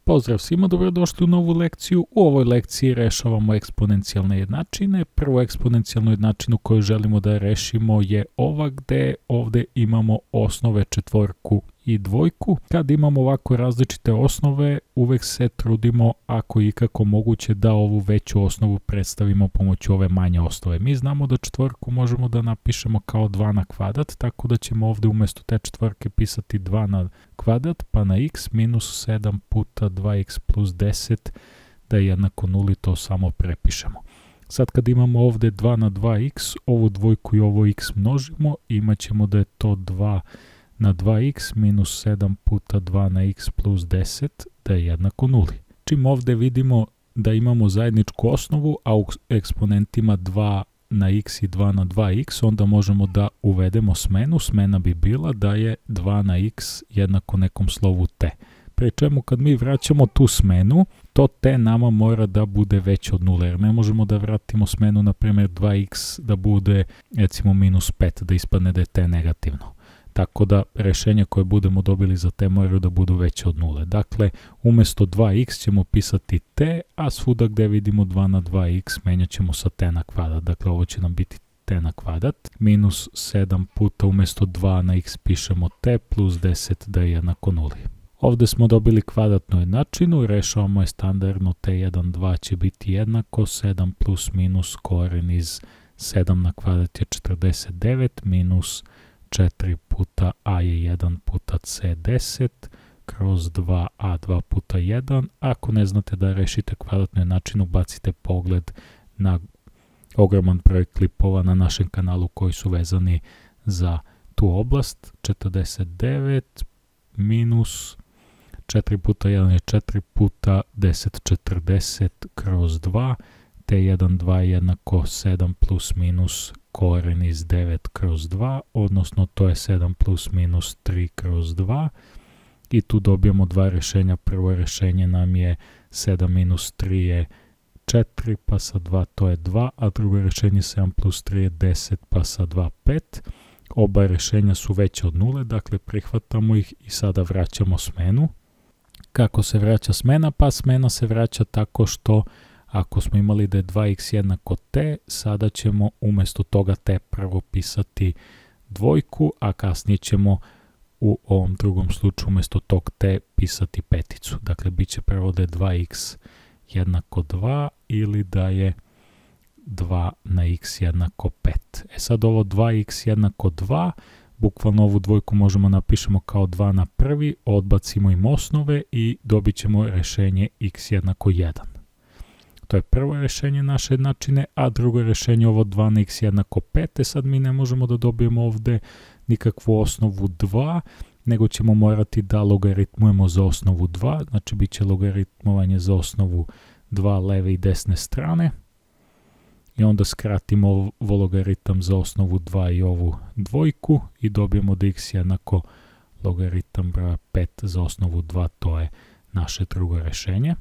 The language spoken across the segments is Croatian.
Pozdrav svima, dobrodošli u novu lekciju. U ovoj lekciji rešavamo eksponencijalne jednačine. Prvu eksponencijalnu jednačinu koju želimo da rešimo je ova gde ovde imamo osnove četvorku i dvojku. Kad imamo ovako različite osnove, uvek se trudimo, ako je ikako moguće, da ovu veću osnovu predstavimo pomoću ove manje osnove. Mi znamo da četvorku možemo da napišemo kao 2 na kvadrat, tako da ćemo ovde umesto te četvorke pisati 2 na kvadrat, pa na x minus 7 puta 2x plus 10 da je jednako 0 i to samo prepišemo. Sad kad imamo ovde 2 na 2x, ovu dvojku i ovo x množimo, imat ćemo da je to 2 na 2x minus 7 puta 2 na x plus 10 da je jednako 0. Čim ovde vidimo da imamo zajedničku osnovu, a u eksponentima 2 na x i 2 na 2x, onda možemo da uvedemo smenu. Smena bi bila da je 2 na x jednako nekom slovu t. Pri čemu kad mi vraćamo tu smenu, to t nama mora da bude veće od 0, jer ne možemo da vratimo smenu, na primjer 2x da bude recimo minus 5, da ispadne da je t negativno. Tako da rešenja koje budemo dobili za t moraju da budu veće od 0. Dakle, umesto 2x ćemo pisati t, a svuda gde vidimo 2 na 2x menjat ćemo sa t na kvadrat. Dakle, ovo će nam biti t na kvadrat. Minus 7 puta umesto 2 na x pišemo t plus 10 da je jednako 0. Ovde smo dobili kvadratnu jednačinu, rešavamo je standardno, t1, 2 će biti jednako 7 plus minus koren iz 7 na kvadrat je 49 minus 4 puta a je 1 puta c 10 kroz 2a 2 puta 1. Ako ne znate da rešite kvadratnu jednačinu, bacite pogled na ogroman broj klipova na našem kanalu koji su vezani za tu oblast. 49 minus 4 puta 1 je 4 puta 10 40 kroz 2 t1 2 je jednako 7 plus minus koren iz 9 kroz 2, odnosno to je 7 plus minus 3 kroz 2 i tu dobijamo dva rešenja. Prvo rešenje nam je 7 minus 3 je 4 pa sa 2 to je 2, a drugo rešenje 7 plus 3 je 10 pa sa 2 5. Oba rešenja su veće od 0, dakle prihvatamo ih i sada vraćamo smenu. Kako se vraća smena? Pa smena se vraća tako što ako smo imali da je 2x jednako t, sada ćemo umesto toga t prvo pisati dvojku, a kasnije ćemo u ovom drugom slučaju umesto tog t pisati peticu. Dakle, bit će prvo da je 2x jednako 2 ili da je 2 na x jednako 5. Sad ovo 2x jednako 2, bukvalno ovu dvojku možemo napišemo kao 2 na prvi, odbacimo im osnove i dobit ćemo rešenje x jednako 1. To je prvo rešenje naše jednačine, a drugo rešenje ovo 2 na x jednako 5. Sad mi ne možemo da dobijemo ovde nikakvu osnovu 2, nego ćemo morati da logaritmujemo za osnovu 2, znači bit će logaritmovanje za osnovu 2 leve i desne strane. I onda skratimo ovo logaritam za osnovu 2 i ovu dvojku i dobijemo da x jednako logaritam broja 5 za osnovu 2, to je naše drugo rešenje.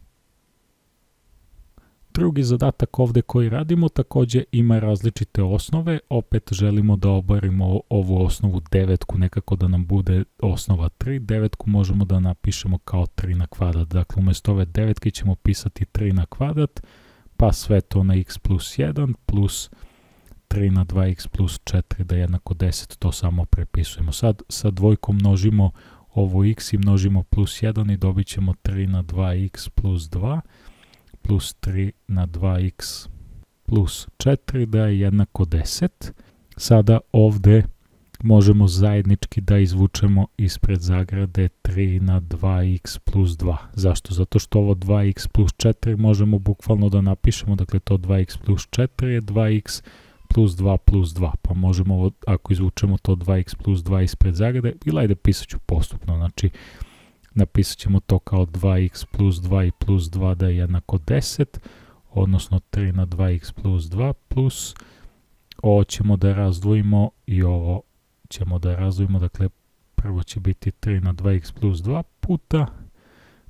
Drugi zadatak ovde koji radimo takođe ima različite osnove, opet želimo da obarimo ovu osnovu devetku, nekako da nam bude osnova 3, devetku možemo da napišemo kao 3 na kvadrat, dakle umesto ove devetke ćemo pisati 3 na kvadrat, pa sve to na x plus 1 plus 3 na 2x plus 4 da je jednako 10, to samo prepisujemo. Sad sa dvojkom množimo ovo x i množimo plus 1 i dobit ćemo 3 na 2x plus 2 plus 3 na 2x plus 4 da je jednako 10. Sada ovde možemo zajednički da izvučemo ispred zagrade 3 na 2x plus 2. Zašto? Zato što ovo 2x plus 4 možemo bukvalno da napišemo, dakle to 2x plus 4 je 2x plus 2 plus 2, pa možemo ovo, ako izvučemo to 2x plus 2 ispred zagrade, ili ajde pisat ću postupno, znači napisat ćemo to kao 2x plus 2 i plus 2 da je jednako 10, odnosno 3 na 2x plus 2 plus, ovo ćemo da razdvojimo i ovo ćemo da razdvojimo, dakle prvo će biti 3 na 2x plus 2 puta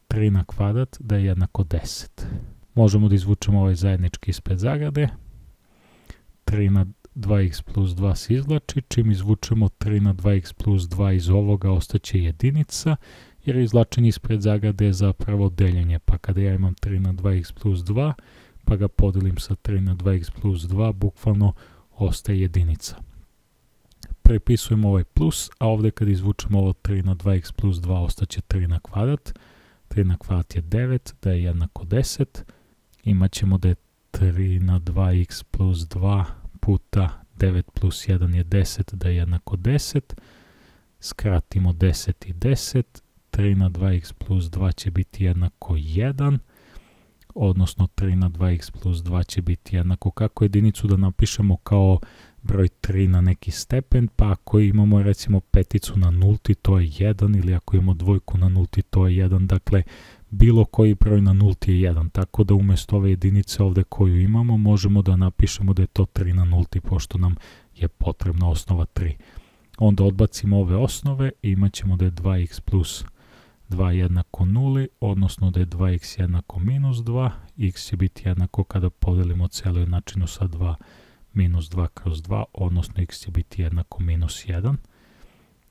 3 na kvadrat da je jednako 10. Možemo da izvučemo ovaj zajednički ispred zagrade, 3 na 2x plus 2 se izvlači, čim izvučemo 3 na 2x plus 2 iz ovoga ostaće jedinica jer izvlačenje ispred zagrade je zapravo deljenje, pa kada ja imam 3 na 2x plus 2, pa ga podelim sa 3 na 2x plus 2, bukvalno ostaje jedinica. Prepisujemo ovaj plus, a ovdje kad izvučemo ovo 3 na 2x plus 2, ostaće 3 na kvadrat. 3 na kvadrat je 9, da je jednako 10. Imat ćemo da je 3 na 2x plus 2 puta 9 plus 1 je 10, da je jednako 10. Skratimo 10 i 10. 3 na 2x plus 2 će biti jednako 1. Odnosno 3 na 2x plus 2 će biti jednako, kako jedinicu da napišemo kao broj 3 na neki stepen, pa ako imamo recimo peticu na nulti, to je 1, ili ako imamo dvojku na nulti, to je 1, dakle bilo koji broj na nulti je 1, tako da umjesto ove jedinice ovdje koju imamo, možemo da napišemo da je to 3 na nulti, pošto nam je potrebna osnova 3. Onda odbacimo ove osnove i imat ćemo da je 2x plus 2 jednako 0, odnosno da je 2x jednako minus 2, x će biti jednako kada podelimo celu jednačinu sa 2 minus 2 kroz 2, odnosno x će biti jednako minus 1.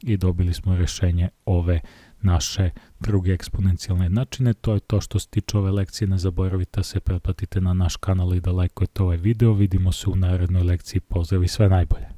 I dobili smo rješenje ove naše druge eksponencijalne jednačine. To je to što se tiče ove lekcije. Ne zaboravite da se pretplatite na naš kanal i da lajkujete ovaj video. Vidimo se u narednoj lekciji. Pozdrav i sve najbolje!